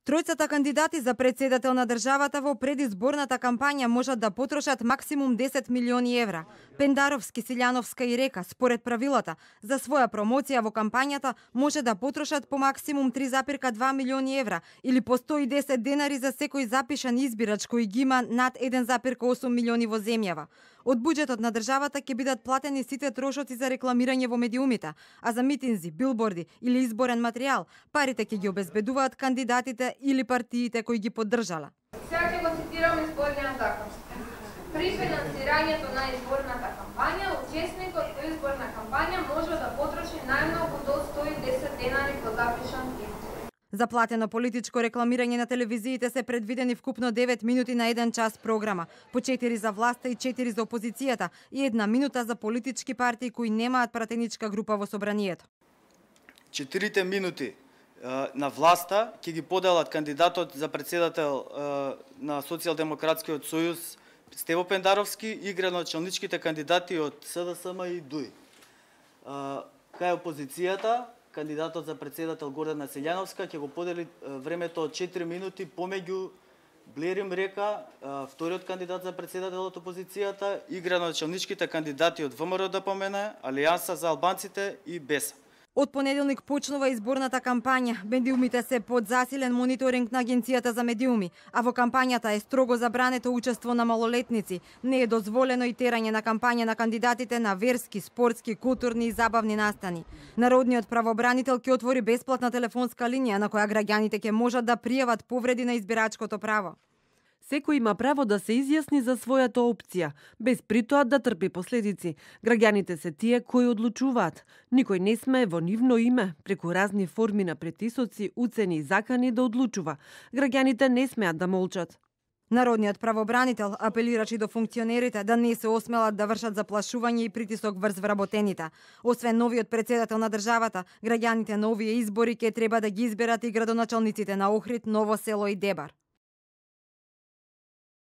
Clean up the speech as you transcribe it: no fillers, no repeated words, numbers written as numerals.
Тројцата кандидати за председател на државата во предизборната кампања можат да потрошат максимум 10 милиони евра. Пендаровски, Силјановска и Река, според правилата, за своја промоција во кампањата може да потрошат по максимум 3,2 милиони евра или по 110 денари за секој запишан избирач кој ги има над 1,8 милиони во земјава. Од буџетот на државата ќе бидат платени сите трошоци за рекламирање во медиумите, а за митинзи, билборди или изборен материјал, парите ќе ги обезбедуваат кандидатите или партиите кои ги поддржала. Сега ќе го цитирам изборниот закон. При финансирањето на изборната кампања, учесникот во изборна кампања може да потроши најмногу до 110 денари по запишан избор. За платено политичко рекламирање на телевизиите се предвидени вкупно 9 минути на 1 час програма, по 4 за власта и 4 за опозицијата и 1 минута за политички партии кои немаат пратеничка група во собранието. 4 минути на власта ќе ги поделат кандидатот за председател на Социјалдемократскиот сојуз Стево Пендаровски и градоначалничките кандидати од СДСМ и ДУИ. Кај опозицијата, кандидатот за председател Гордана Силјановска ќе го подели времето од 4 минути помеѓу Блерим Река, вториот кандидат за председател од опозицијата и градоначалничките кандидати од ВМРО ДПМН, Алијанса за албанците и БЕСА. Од понеделник почнува изборната кампања. Медиумите се под засилен мониторинг на Агенцијата за медиуми, а во кампањата е строго забрането учество на малолетници. Не е дозволено и терање на кампања на кандидатите на верски, спортски, културни и забавни настани. Народниот правобранител ќе отвори бесплатна телефонска линија на која граѓаните ќе можат да пријават повреди на избирачкото право. Секој има право да се изјасни за својата опција, без притоа да трпи последици. Граѓаните се тие кои одлучуваат. Никој не смее во нивно име, преку разни форми на притисоци, уцени и закани да одлучува. Граѓаните не смеат да молчат. Народниот правобранител апелираше до функционерите да не се осмелат да вршат заплашување и притисок врз вработените. Освен новиот председател на државата, граѓаните на овие избори ќе треба да ги изберат и градоначалниците на Охрид, Ново село и Дебар.